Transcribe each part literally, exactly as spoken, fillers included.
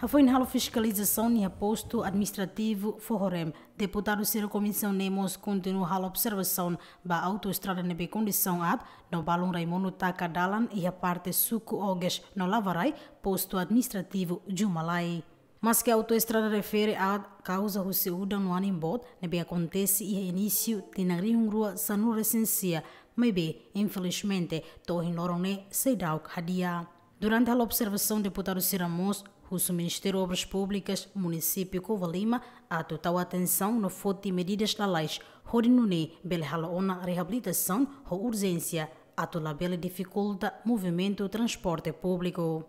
Hafoin halo fiskalizasaun iha postu administrativu Fohorem, deputadu sira komisaun ne'e mós kontinua halo observasaun ba autoestrada ne'ebé kondisaun aat no balun rai-monu taka dalan iha parte suku Oges no Lavarai, postu administrativu Jumalai. Maske autoestrada refere aat kauza husi udan no anin boot ne'ebé akontese iha inísiu tinan rihun rua sanulu-resin-sia, maibé infelizmente to'o ohin loron ne'e seidauk hadi'a. Durante halo observasaun, deputadu sira mós husu Ministériu Obras Públikas Munisípiu Covalima atu tau atensaun no foti medidas lalais hodi nune'e bele halo ona reabilitasaun ho urjénsia atu labele difikulta movimentu transporte públiku.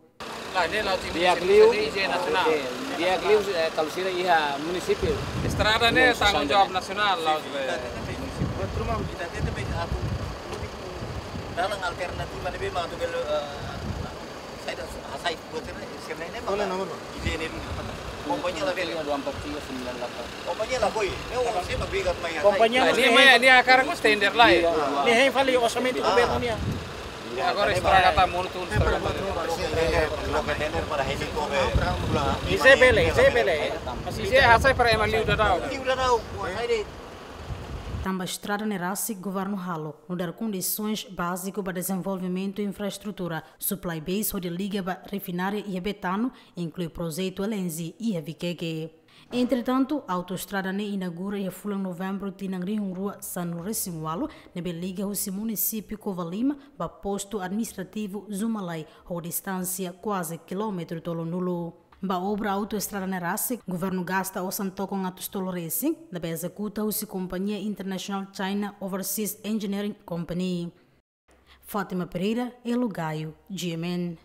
Di'ak liu, di'ak liu, eh, kalau sira iha munisípiu. Estrada ne'e tanggung jawab nasionál, la'ós be. Buat rumah kita tetap atu dalan alternatif mana be mau tu belo, eh, saya dah hasai buat sira, sira ne'e. Oleh nomor, Bang. Ide ne'e, kompañia labele. Dua empat tiga sembilan delapan. Kompañia la koi. Ne'e o sira briga mai hasai. Kompañia ne'e, ne'e hakarak tender lai. Ne'e hein fali orsamentu governu nian. Agora estraga ta mortu, estraga ta. Izé bele, izé bele. Mas izé hasai para ema liu daudaun. Tanba estrada ne'e rasik governu halo nu'udar kondisoens báziku ba dezenvolvimentu infraestrutura, supply base hodi liga ba refinária iha Betano, inklui projetu L N G iha Vikeke. Entretantu, autoestrada ne'e inaugura iha fulan Novembru tinan rihun rua sanulu-resin-ualu, ne'ebé liga husi munisípiu Covalima ba postu administrativu Jumalai, ho distánsia kuaze kilómetru tolunulu. Ba obra autoestrada ne'e rasik, governu gasta osan tokon atus tolu resin, ne'ebé ezekuta husi kompañia internasionál China Overseas Engineering Company. Fátima Pereira, Elo Gaio, G M N.